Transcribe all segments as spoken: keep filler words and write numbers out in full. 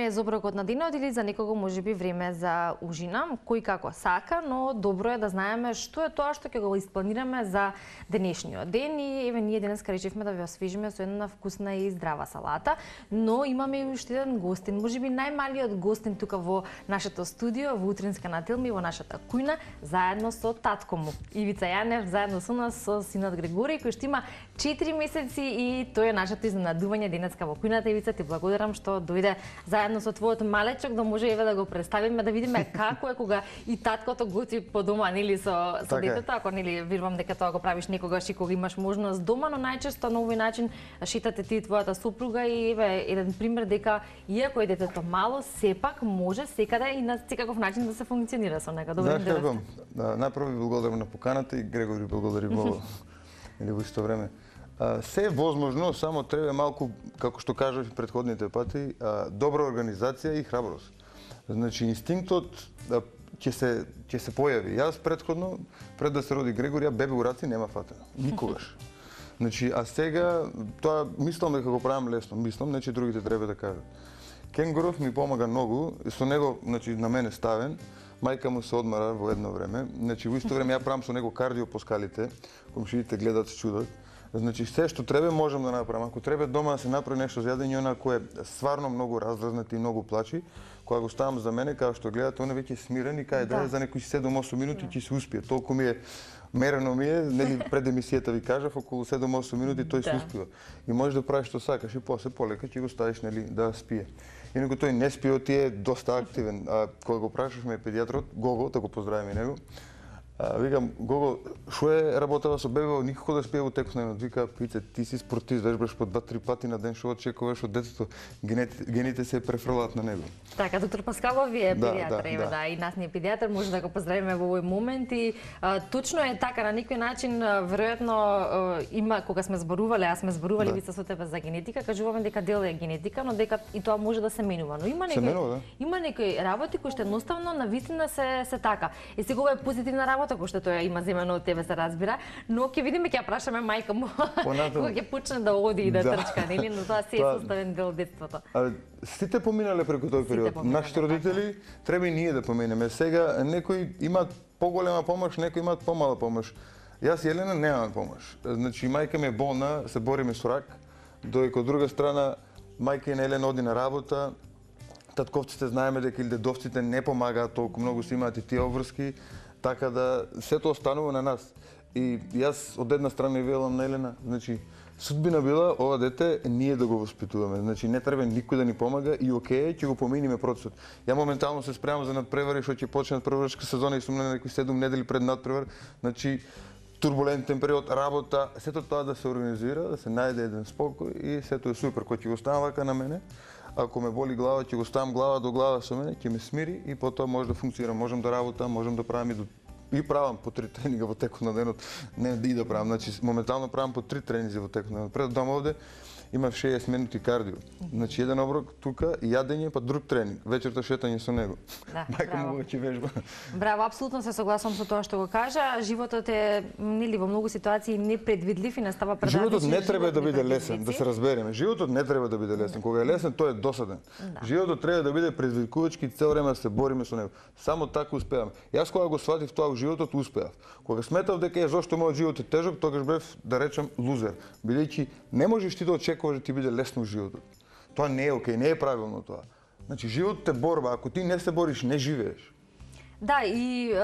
време е за оброкот на денот или за некого можеби време за ужина, кој како сака, но добро е да знаеме што е тоа што ќе го испланираме за денешниот ден и еве ние денеска речевме да ве освежиме со една вкусна и здрава салата, но имаме и уште еден гостин, можеби најмалиот гостин тука во нашето студио, во утринска на Телми, во нашата кујна, заедно со татко му. Ивица Јанев, заедно со нас, со синот Григори, кој што има четири месеци и тој е нашето изненадување денеска во кујната. Ивица, ти благодарам што дојде заедно со твојот малечок, да може еве да го представиме, да видиме како е кога и таткото готви по дома, нели, со, со детето, ако нели верувам дека тоа го правиш некогаш и кога имаш можност дома, но најчесто на овој начин шетате ти и твојата сопруга и еве еден пример дека иако е детето мало, сепак може секаде и на секаков начин да се функционира со него. Добро ден. Знаеш како, најпрво ви благодарам на поканата и Грегори благодари во или во исто време. А, се е возможно, само треба малку, како што кажав и претходните пати, а, добра организација и храброст. Значи, инстинктот да, ќе се, ќе се појави. Јас претходно, пред да се роди Грегори, ја бебе у раци нема фатено. Никогаш. Значи, а сега, тоа мислам дека го правам лесно, мислам, не че другите треба да кажат. Кенгуров ми помага многу, со него, значи, на мене ставен, мајка му се одмара во едно време, значи, во исто време ја правам со него кардио по скалите, комшиите гледат, се чудат. Значи, се што треба можам да направам. Ако треба дома да се направи нешто за јадење, она кој е стварно многу раздразнат и многу плачи, кога го ставам за мене, како што гледате, он е веќе смирен и кај да е за некои седум-осум минути ќе се успие. Толку ми е мерено ми е, нели пред емисијата ви кажав, околу седум-осум минути тој се успива. И можеш да правиш што сакаш и после полека ќе го ставиш, нели, да спие. Инаку тој не спие, тие е доста активен. А кога го прашавме педијатрот, Гого, да го поздравиме и него, А, викам, Гого, шо е работава со бебе, никако да спие во текот на денот. Вика, Пице, ти си спортист, вежбаш по два-три пати на ден, шо очекуваш од детето, гените, гените се префрлаат на него. Така, доктор Паскалов ви е да, педијатар, да, еве, да. да, и нас ни е педијатар, може да го поздравиме во овој момент и а, точно е така, на некој начин, веројатно има, кога сме зборувале, а сме зборували да. Вица со тебе за генетика, кажуваме дека дел е генетика, но дека и тоа може да се менува. Но има некои, менува, да. има некои работи кои што едноставно на вистина се се така. И сега ова е позитивна работа кој што тоа има земено од тебе се разбира, но ќе видиме, ќе ја прашаме мајка му кога ќе почне да оди и да, да. трчка, нели, но тоа се е составен дел од детството. А, сите поминале преку тој период. Нашите родители треба и ние да поминеме. Сега некои имаат поголема помош, некои имаат помала помош. Јас и Елена немаме помош. Значи мајка ми е болна, се бориме со рак, додека од друга страна мајка на Елена оди на работа. Татковците знаеме дека или дедовците не помагаат толку многу, се имаат и тие обврски. Така да сето останува на нас. И јас од една страна и велам на Елена, значи судбина била ова дете ние да го воспитуваме. Значи не треба никој да ни помага и окей, ќе го поминиме процесот. Ја моментално се спремам за надпревари, што ќе почне надпреварска сезона и сум на некои седум недели пред надпревар. Значи турбулентен период, работа, сето тоа да се организира, да се најде еден спокој и сето е супер. Кој ќе го ставам вака на мене, ако ме боли глава, ќе го ставам глава до глава со мене, ќе ме смири и потоа може да функционира. Можам да работам, можам да правам и до и правам по три тренинга во текот на денот, не да и да правам, значи моментално правам по три тренинзи во текот на денот. Пред дома овде имав шеесет минути кардио. Значи еден оброк тука, јадење па друг тренинг, вечерта шетање со него. Да, мајка му веќе вежба. Браво, апсолутно се согласувам со тоа што го кажа. Животот е нели во многу ситуации непредвидлив и настава предразлични. Животот не треба да биде лесен, да се разбереме. Животот не треба да биде лесен. Кога е лесен, тој е досаден. Да. Животот треба да биде предизвикувачки, цел време да се бориме со него. Само така успеаваме. Јас кога го сватив тоа во животот, успеав. Кога сметав дека е зошто мојот живот е тежок, тогаш бев, да речам, лузер. Бидејќи не можеш ти да очекуваш да ти биде лесно животот. Тоа не е окей, не е правилно тоа. Значи животот е борба, ако ти не се бориш, не живееш. Да, и е,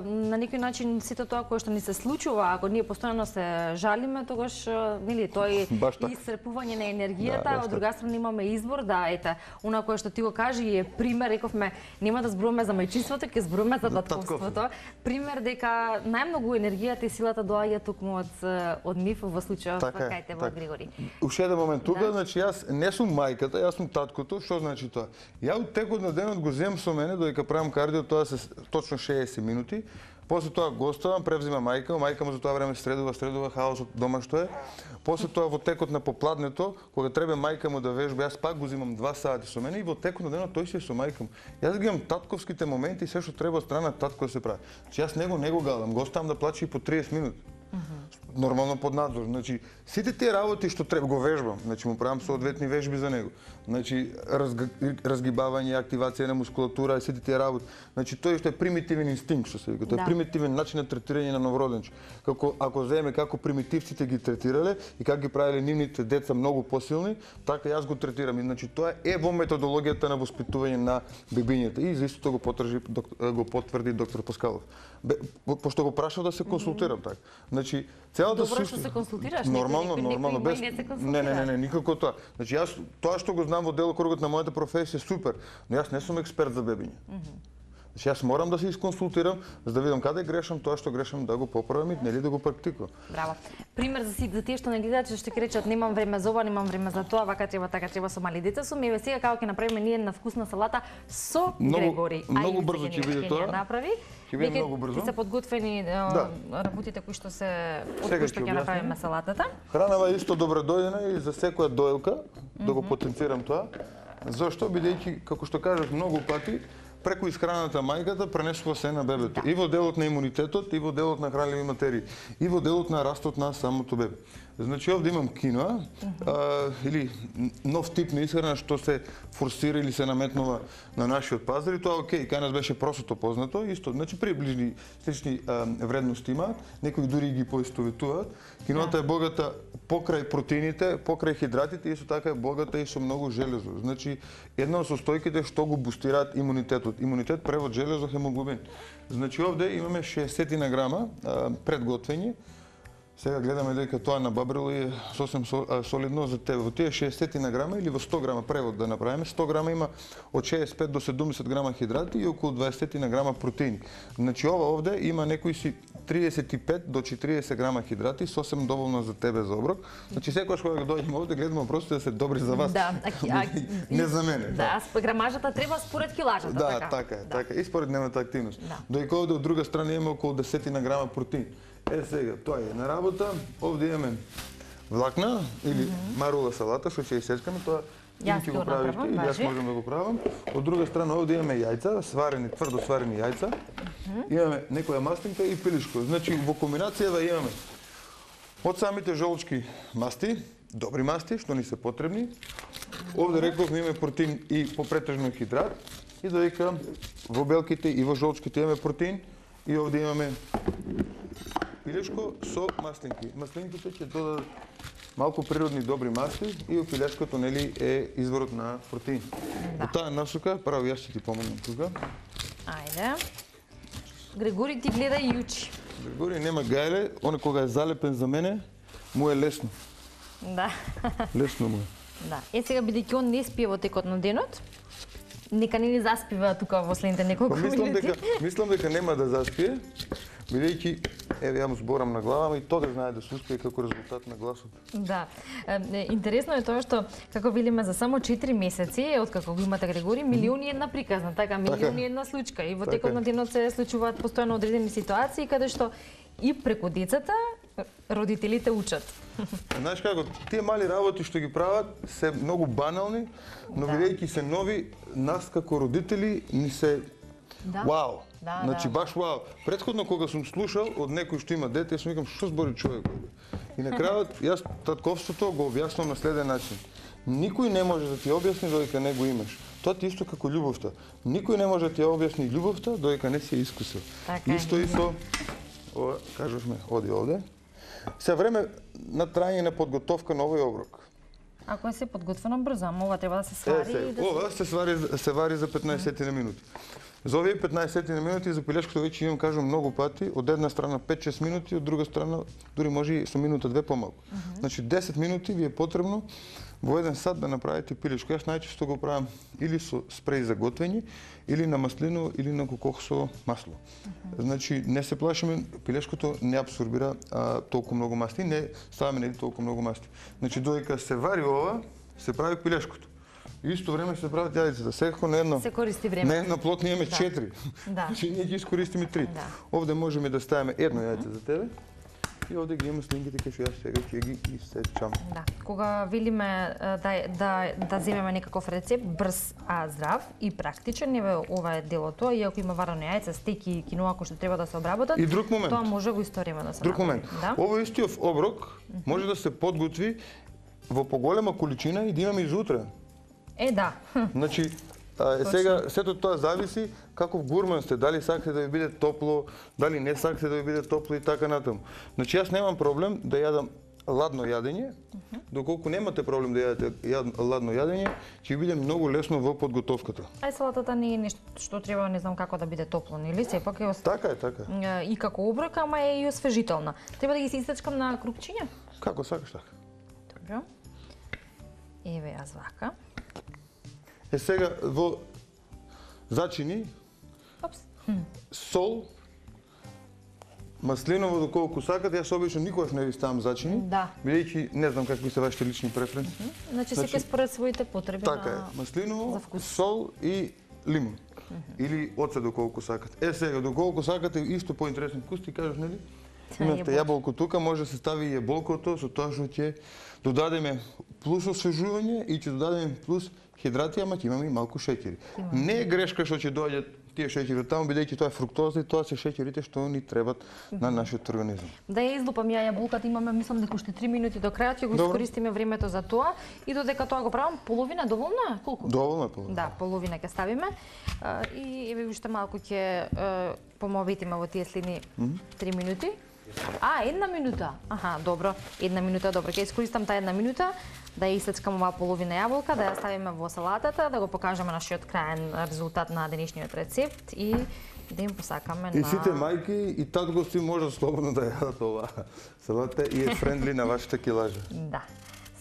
на некој начин сето тоа кое што ни се случува, ако ние постојано се жалиме, тогаш нели тој исцрпување на енергијата, да, од друга страна имаме избор, да, ете, она кое што ти го кажи е пример, рековме, нема да зборуваме за мајчинството, ќе зборуваме за татковството. Пример дека најмногу енергијата и силата доаѓа токму од од нив во случајот така, кај те во Григори. Уште еден момент тука, да. Значи јас не сум мајката, јас сум таткото, што значи тоа? Ја од текот на денот го земам со мене додека правам кардио, тоа се точно шеесет минути. После тоа го оставам, превзима мајка, мајка му за тоа време средува, средува хаосот дома што е. После тоа во текот на попладнето, кога треба мајка му да вежба, јас пак го земам два сати со мене и во текот на денот тој си е со мајка му. Јас ги имам татковските моменти и се што треба од страна татко да се прави. Че јас него не го галам, го оставам да плаче и по триесет минути. нормално под надзор. Значи, сите тие работи што треба го вежбам, значи му правам соодветни вежби за него. Значи, разг... разгибавање, активација на мускулатура и сите тие работи. Значи, тој што е примитивен инстинкт, што се вика, тоа е примитивен начин на третирање на новороденче. Како ако земе како примитивците ги третирале и како ги правеле нивните деца многу посилни, така јас го третирам. И значи тоа е во методологијата на воспитување на бебињата и за истото го потврди го потврди доктор Паскалов. Бе, пошто го прашав да се консултирам така. Значи, целата Добро што се консултираш, нормално, некој, нормално без не се не, не, не, не, никако тоа. Значи јас тоа што го знам во делокругот на мојата професија супер, но јас не сум експерт за бебиња. Mm -hmm. Значи јас морам да се исконсултирам за да видам каде грешам, тоа што грешам да го поправам и нели да го практикувам. Браво. Пример за сите за тие што не гледаат, што ќе речат немам време за ова, немам време за тоа, вака треба, така треба со мали деца сум. Еве сега како ќе направиме ние една вкусна салата со много, Грегори. Многу брзо ќе биде тоа. Направи. Ќе биде многу брзо. Ќе се подготвени да. работите кои што се од кои што ќе направиме салатата. Хранава исто добро дојдена и за секоја дојлка mm -hmm. да го потенцирам тоа. Зошто бидејќи како што кажав многу пати преку исхраната мајката пренесува се на бебето. Да. И во делот на имунитетот, и во делот на хранливи материи, и во делот на растот на самото бебе. Значи овде имам киноа, uh -huh. а, или нов тип на исхрана што се форсира или се наметнува на нашиот пазар и тоа окей, кај нас беше просото познато, исто, значи приближни слични а, вредности имаат, некои дури ги поистоветуваат. Киноата е богата покрај протеините, покрај хидратите, исто така е богата и со многу железо. Значи една од состојките што го бустираат имунитетот. Имунитет превод железо хемоглобин. Значи овде имаме шеесет грама а, предготвени. Сега гледаме дека тоа набабрило е сосем солидно за тебе. Во тие шеесет грама или во сто грама превод да направиме, сто грама има од шеесет и пет до седумдесет грама хидрати и околу дваесет грама протеини. Значи ова овде има некои си триесет и пет до четириесет грама хидрати, сосем доволно за тебе за оброк. Значи секогаш кога дојдеме овде гледаме просто да се добри за вас. Да, а, не за мене. Да, да. Грамажата треба според килажата, да, така. така е, да. така и според нивната активност. Да. Дојка овде од друга страна има околу десет грама протеин. Е сега, тоа е на работа. Овде имаме влакна или mm -hmm. марула салата што ќе исечкаме, тоа јас ќе го правиш ти, јас можам да го правам. Од друга страна овде имаме јајца, сварени, тврдо сварени јајца. Mm -hmm. Имаме некоја мастинка и пилишко. Значи во комбинацијава имаме од самите жолчки масти, добри масти што ни се потребни. Овде рековме имаме протеин и попретежно хидрат и додека во белките и во жолчките имаме протеин и овде имаме пилешко со маслинки. Маслинките ќе додадат малку природни добри масти и пилешкото нели е изворот на протеин. Да. Во таа насока, право јас ќе ти помогнам тука. Ајде. Грегори ти гледа и учи. Грегори нема гајле, он кога е залепен за мене, му е лесно. Да. Лесно му е. Да. Е сега бидејќи он не спие во текот на денот, нека не ни заспива тука во следните неколку минути. Мислам дека мислам дека нема да заспие, бидејќи еве ја му зборам на глава и тоа да знае да се успее како резултат на гласот. Да. Е, интересно е тоа што како велиме за само четири месеци од како го имате Грегори, милиони една приказна, така милиони една случка и во така. Текот на денот се случуваат постојано одредени ситуации каде што и преку децата родителите учат. Знаеш како, тие мали работи што ги прават се многу банални, но да. Бидејќи се нови, нас како родители ни се да. Вау. Да, значи да. баш вау. Претходно кога сум слушал од некој што има дете, јас сум викам што збори човек. И на крајот јас татковството го објаснувам на следен начин. Никој не може да ти објасни додека не го имаш. Тоа ти исто како љубовта. Никој не може да ти објасни љубовта додека не си ја искусил. Така, исто и со ова, кажувме, оди овде. Се време на трајање на подготовка на овој оброк. Ако е се подготвено брзо, ама ова треба да се свари е, се, и да ова се свари се вари за петнаесет на минути. За овие петнаесет на минути за пилешкото веќе имам кажам многу пати, од една страна пет-шест минути, од друга страна дури може и со минута две помалку. Uh -huh. Значи десет минути ви е потребно во еден сат да направите пилешко. Јас најчесто го правам или со спреј за готвење, или на маслино, или на кокох со масло. Uh -huh. Значи не се плашиме, пилешкото не абсорбира а, толку многу масти, не ставаме нели толку многу масти. Значи додека се вари ова, се прави пилешкото. И исто време се прават јајцата. Секако на едно. Се користи време. На една плот ние имаме да. четири. Да. Значи ние ги искористиме три. Да. Овде можеме да ставиме едно јајце за тебе. И овде ги имам слинките кај што јас сега ќе ги исечам. Да, кога велиме да да да земеме некаков рецепт брз а здрав и практичен, еве ова е делото, иако има варено јајце, стеки и киноа кои што треба да се обработат. И друг момент. Тоа може го историме да се Друг момент. Да? Овој истиот оброк може да се подготви во поголема количина и да имаме и за утре. Е, да. Значи, а, е, сега сето тоа зависи каков гурман сте, дали сакате да ви биде топло, дали не сакате да ви биде топло и така натаму. Значи јас немам проблем да јадам ладно јадење, доколку немате проблем да јадете јад, ладно јадење, ќе ви биде многу лесно во подготовката. Ај салатата не е нешто што треба не знам како да биде топло, нели? Сепак е ос... Така е, така. и како оброк, ама е и освежителна. Треба да ги се исечкам на крупчиња? Како сакаш така. Добро. Еве јас вака. Е сега во зачини Опс. сол, маслиново доколку сакате, јас обично никогаш не ви ставам зачини, Да. бидејќи не знам какви се вашите лични преференции. Значи, Значи, секој според своите потреби Така на... е, маслиново, за вкус. сол и лимон. Или оцет доколку сакате. Е сега, доколку сакате исто поинтересен вкус, ти кажеш, нели? Имате јаболко тука, може да се стави и јаболкото, со тоа што ќе додадеме плюс освежување и ќе додадеме плюс хидрати, ама ќе имаме и малку шеќери. Не е грешка што ќе доаѓат тие шеќери од таму, бидејќи тоа е фруктоза и тоа се шеќерите што ни требат на нашиот организам. Да ја излупам ја јаболката, имаме мислам дека уште три минути до крајот, ќе го Добро. искористиме времето за тоа и додека тоа го правам, половина доволно е? Колку? Доволно е половина. Да, половина ќе ставиме. А, и еве уште малку ќе е, помовитиме во тие следни три минути. А, една минута. Аха, добро. Една минута, добро. Ќе искористам таа една минута да ја исечкам оваа половина јаболка, да ја ставиме во салатата, да го покажеме нашиот крајен резултат на денешниот рецепт и да им посакаме И на... сите мајки и татковци може слободно да јадат оваа салата и е френдли на вашата килажа. Да.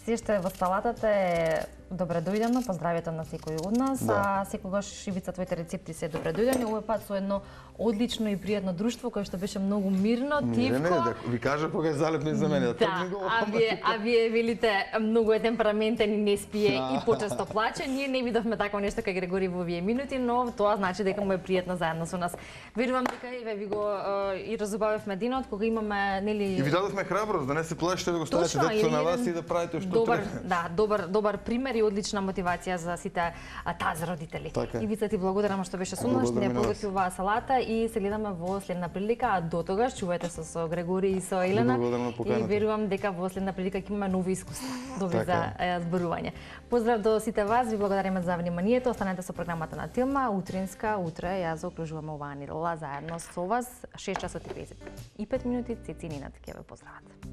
Се што е во салатата е добре дојдено, поздравјето на секој од нас, Да. а секогаш Ивица твоите рецепти се добре дојдени, овој пат со едно одлично и пријатно друштво кое што беше многу мирно, Не, тивко. не, да ви кажа кога е залепни за мене. Да, а вие, а вие велите многу е темпераментен и не спие и почесто плаче. Ние не видовме такво нешто кај Грегори во овие минути, но тоа значи дека му е пријатно заедно со нас. Верувам дека еве ви го е, и разубавивме денот кога имаме нели И ви дадовме храброст да не се плашите да го ставите Точно, детето на или вас еден и да правите што добар, треба. да, добар, добар пример и одлична мотивација за сите а, тази родители. Така е. Ивица, ти благодарам што беше со нас, Благодарам не и на вас. подготви оваа салата и се гледаме во следна прилика, а до тогаш чувајте се со Грегори и со Елена. Благодарам на поканата. И верувам дека во следна прилика ќе имаме нови искуства, нови Така за е, зборување. Поздрав до сите вас, ви благодариме за вниманието. Останете со програмата на Тилма, утринска, утре ја заокружуваме оваа недела заедно со вас, шест часот и педесет и пет минути, Цеци и Нинат ќе ве поздрават.